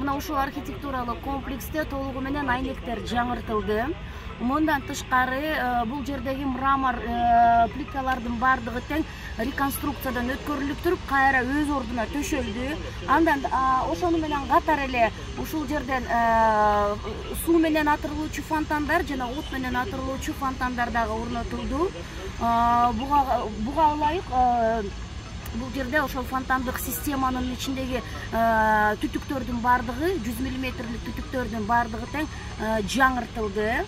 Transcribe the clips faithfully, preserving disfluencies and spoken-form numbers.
мына ушул архитектуралык комплексте толугу менен айнектер жаңыртылды. Мындан тышкары бул жердеги мрамор плиткалардын бардыгы тең реконструкциядан өткөрүлүп туруп, кайра өз ордуна төшөлдү. Андан ошону менен катар эле ушул жерден суу менен атырылуучу фонтандар жана от менен атырылуучу фонтандар дагы орнотулду. Буга ылайык бул жерде ошол фонтандык системанын ичиндеги түтүктөрдүн бардыгы, жүз миллиметрлик түтүктөрдүн бардыгы тең жаңыртылды.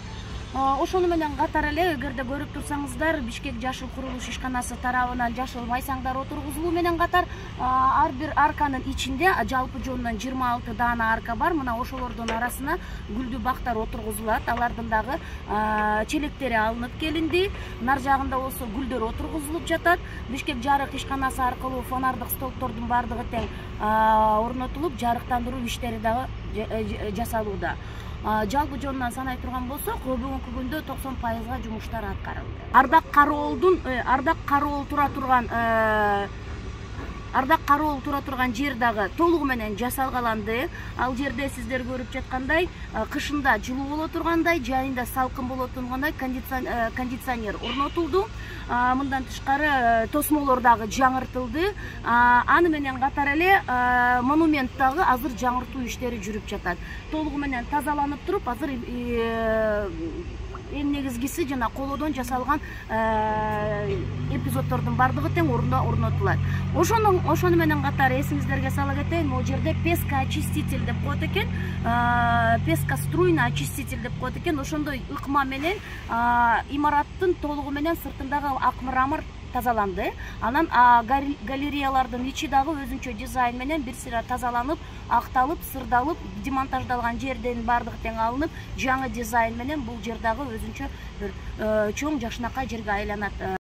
Ошону менен катар эле, эгерде көрүп турсаңыздар, Бишкек жашыл курулуш ишканасы тарабынан жашыл майсаңдар отургузулуу менен катар ар бир арканын ичинде жалпы жонунан жыйырма алты даана арка бар. Мына ошолордун арасына гүлдүү бактар отургузулат. Алардын дагы челектери алынып келинди. Нар жагында болсо гүлдөр отургузулуп жатат. Бишкек жарык ишканасы аркылуу фонардык столбтордун бардыгы тең орнотулуп, жарыктандыруу иштери дагы жасалууда. Жалпы жонунан санай турган болсок, бүгүнкү күндө токсон пайызга жумуштар аткарылды. Ардак Кароолдун Ардак Кароол тура турган Ардак Кароол тура турган жер дагы толугу менен жасалгаланды. Ал жерде сиздер көрүп жаткандай, кышында жылуу боло тургандай, жайында салкын боло тургандай кондиционер орнотулду. Мындан тышкары тосмолор дагы жаңыртылды. Аны менен катар эле монумент дагы азыр жаңыртуу иштери жүрүп жатат. Толугу менен тазаланып туруп, азыр эң негизгиси жана колодон жасалган эпизоддордун бардыгы тең орунда орнотулат. Ошону ошону менен катар эсиңиздерге сала кетейин, могу жерде песка очиститель деп коет экен. Песка струйный очиститель деп коет экен. Ошондой ыкма менен имараттын толугу менен сыртындагы ак мрамор тазаланды. Анан галереялардын ичи дагы өзүнчө дизайн менен бир сыйра тазаланып, акталып, сырдалып, демонтаждалган жерден бардыгы тең алынып, жаңы дизайн менен бул жер дагы өзүнчө бир чоң жакшынакай жерге айланат.